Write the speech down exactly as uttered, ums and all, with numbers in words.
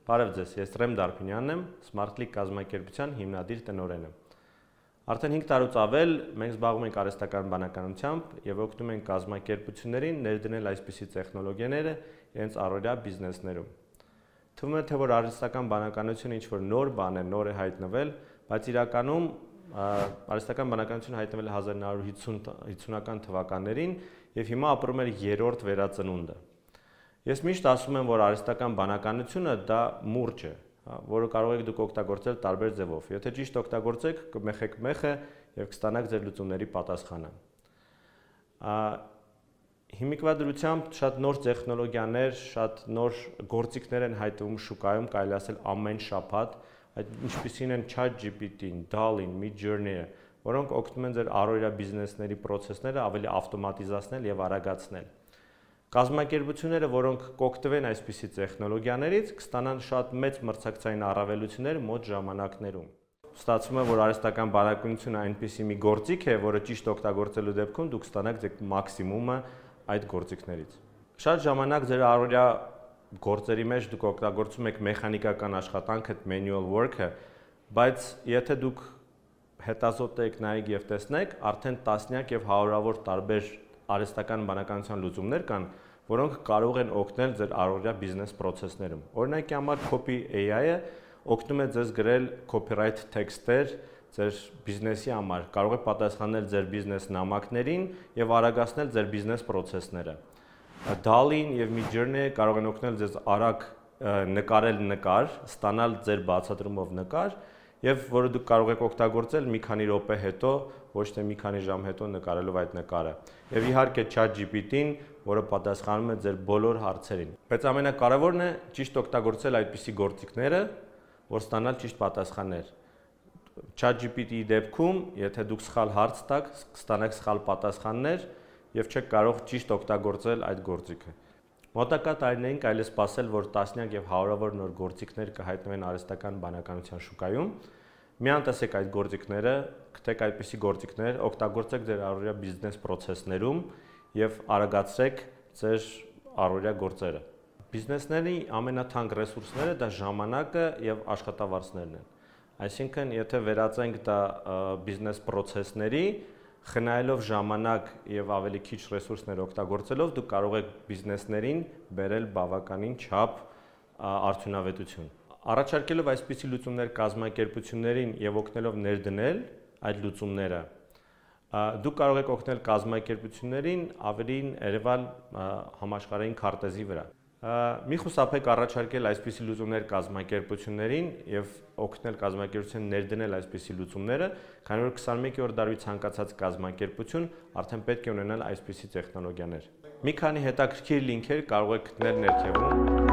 Բարև ձեզ, ես Ռեմ Դարփինյանն եմ, Smart-Click կազմակերպության հիմնադիր տնօրենը։ Արդեն հինգ տարուց ավել մենք զբաղվում ենք արհեստական բանականությամբ եւ օգնում ենք կազմակերպություններին ներդնել այսպիսի տեխնոլոգիաները իրենց առօրյա բիզնեսներում։ Թվում է, թե որ արհեստական բանականությունը ինչ-որ նոր բան է, նոր է հայտնվել, բայց իրականում արհեստական բանականությունը հայտնվել է հազար նոր հիսունական թվականներին եւ հիմա ապրում է երրորդ վերածնունդը։ Ես միշտ ասում եմ, որ արհեստական բանականությունը դա մուրճ է, որը կարող եք դուք օգտագործել տարբեր ձևով։ Եթե ճիշտ օգտագործեք, կմեխեք մեխը եւ կստանաք ձեր լուծումների պատասխանը։ Հիմիկվա դրությամբ շատ նոր տեխնոլոգիաներ, շատ նոր գործիքներ են հայտնվում շուկայում, կարելի ասել ամեն շաբաթ, այդ ինչպիսին են ChatGPT-ն, DALL-ին, Midjourney-ը, որոնք օգնում են ձեր առօրյա բիզնեսների process-ները ավելի ավտոմատիզացնել եւ արագացնել։ Կազմակերպությունները, որոնք կօգտվեն այսպիսի տեխնոլոգիաներից, կստանան շատ մեծ մրցակցային առավելություններ մոտ ժամանակներում։ Ստացվում է, որ արհեստական բանականությունը այնպիսի մի գործիք է, որը ճիշտ օգտագործելու դեպքում դուք կստանաք ձեր մաքսիմումը այդ գործիքներից։ Շատ ժամանակ ձեր առօրյա գործերի մեջ դուք օգտագործում եք մեխանիկական աշխատանքը, manual work-ը, բայց եթե դուք հետազոտեք, նայեք եւ տեսնեք, արդեն տասնյակ եւ հարյուրավոր տարբեր արհեստական բանականության լուծումներ կան, որոնք կարող են օգնել ձեր առօրյա բիզնես process-ներում։ Օրինակի համար Copy A I-ը օգնում է ձեզ գրել copyright text-եր ձեր բիզնեսի համար, կարող է պատասխանել ձեր բիզնես նամակներին եւ արագացնել ձեր բիզնես process-ները։ DALL-ին եւ Midjourney կարող են օգնել ձեզ արագ նկարել նկար, ստանալ ձեր բացատրումով նկար եւ որը դուք կարող եք օգտագործել մի քանի րոպե հետո, ոչ թե մի քանի ժամ հետո նկարելով այդ նկարը։ Եվ իհարկե ChatGPT-ն, որը պատասխանում է ձեր բոլոր հարցերին։ Բայց ամենակարևորն է ճիշտ օգտագործել այդպիսի գործիքները, որ ստանալ ճիշտ պատասխաններ։ ChatGPT-ի դեպքում, եթե դուք սխալ հարց տաք, կստանաք սխալ պատասխաններ եւ չեք կարող ճիշտ օգտագործել այդ գործիքը։ Մոտակա տարիներին կարելի է սպասել, որ տասնյակ եւ հարյուրավոր նոր գործիքներ կհայտնվեն արհեստական բանականության շուկայում։ Միան տեսեք այդ գործիքները, գտեք այդպիսի գործիքներ, օգտագործեք ձեր առօրյա բիզնես process-ներում եւ արագացրեք ձեր առօրյա գործերը։ Բիզնեսների ամենաթանկ ռեսուրսները դա ժամանակը եւ աշխատավարձներն են։ Այսինքն, եթե վերածենք դա բիզնես process-ների, խնայելով ժամանակ եւ ավելի քիչ ռեսուրսներ օգտագործելով, դուք կարող եք բիզնեսներին բերել բավականին չափ արդյունավետություն։ Առաջարկելով այսպիսի լուծումներ կազմակերպություններին եւ օգնելով ներդնել այդ լուծումները, դուք կարող եք օգնել կազմակերպություններին ավելին երևալ համաշխարհային քարտեզի վրա։ Մի խուսափեք առաջարկել այսպիսի լուծումներ կազմակերպություններին եւ օգնել կազմակերպություններին ներդնել այսպիսի լուծումները, քանի որ քսաներկու-րդ դարի ցանկացած կազմակերպություն արդեն պետք է ունենալ այսպիսի տեխնոլոգիաներ։ Մի քանի հետաքրքիր լինքեր կարող եք գտնել ներքևում։